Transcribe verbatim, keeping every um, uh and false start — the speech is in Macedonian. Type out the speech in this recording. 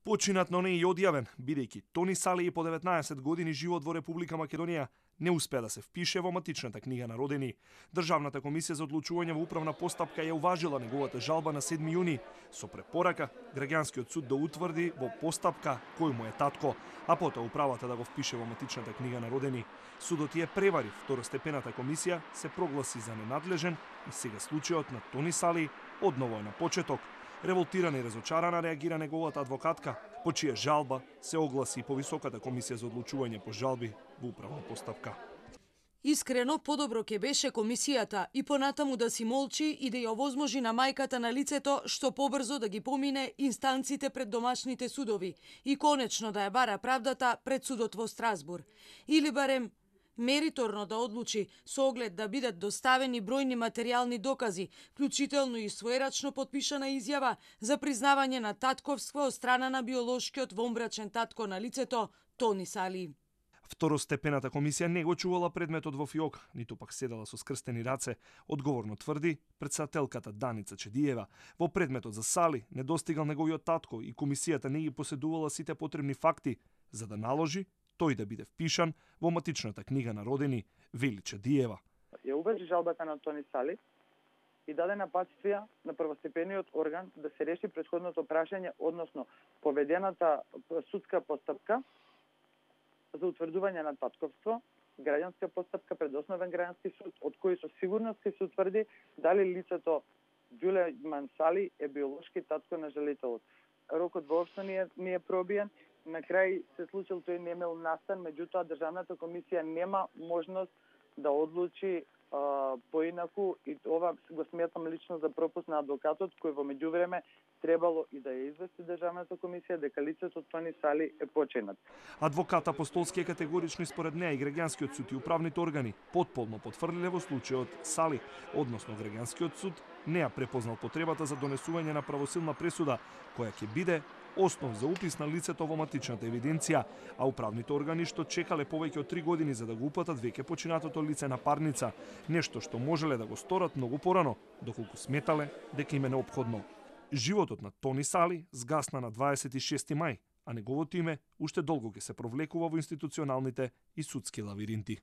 Починат, но не и одјавен, бидејќи Тони Салии по деветнаесет години живот во Република Македонија не успеа да се впише во матичната книга на родени. Државната комисија за одлучување во управна постапка ја уважила неговата жалба на седми јуни со препорака граѓанскиот суд да утврди во постапка кој му е татко, а потоа управата да го впише во матичната книга на родени. Судот ја превари, второстепената комисија се прогласи за ненадлежен и сега случајот на Тони Салии одново е на почеток. Револтирана и разочарана реагира неговата адвокатка, по чија жалба се огласи по Високата комисија за одлучување по жалби во управна постапка. Искрено, подобро ќе беше комисијата и понатаму да си молчи и да ја овозможи на мајката на лицето што побрзо да ги помине инстанците пред домашните судови и конечно да ја бара правдата пред судот во Страсбур. Или барем мериторно да одлучи со оглед да бидат доставени бројни материјални докази, вклучително и своерачно потпишана изјава за признавање на татковство од страна на биолошкиот вонбрачен татко на лицето Тони Салии. Второстепената комисија не го чувала предметот во фиок, ниту пак седела со скрстени раце, одговорно тврди претседателката Даница Чедиева. Во предметот за Сали не достигал неговиот татко и комисијата не ги поседувала сите потребни факти за да наложи тој да биде впишан во матичната книга на родени, вели Чедиева. Ја уважи жалбата на Тони Сали и даде напатствија на првостепениот орган да се реши претходното прашање, односно поведената судска постапка за утврдување на татковство, граѓанска постапка пред основен граѓански суд, од кој со сигурност ќе се утврди дали лицето Ѓулејман Сали е биолошки татко на жалителот. Рокот воопшто не е, не е пробиен. На крај се случил тој немел настан, меѓутоа државната комисија нема можност да одлучи а, поинаку и ова го сметам лично за пропуст на адвокатот кој во меѓувреме требало и да ја извести државната комисија дека лицето Тони Сали е починат. Адвокат Апостолски е категорично според неа и граѓанскиот суд и управните органи потполно потврдиле во случајот Сали, односно граѓанскиот суд не ја препознал потребата за донесување на правосилна пресуда која ќе биде основ за упис на лицето во матичната евиденција, а управните органи што чекале повеќе од три години за да го упатат веќе починатото лице на парница, нешто што можеле да го сторат многу порано, доколку сметале дека им е неопходно. Животот на Тони Сали згасна на дваесет и шести мај, а неговото име уште долго ќе се провлекува во институционалните и судски лавиринти.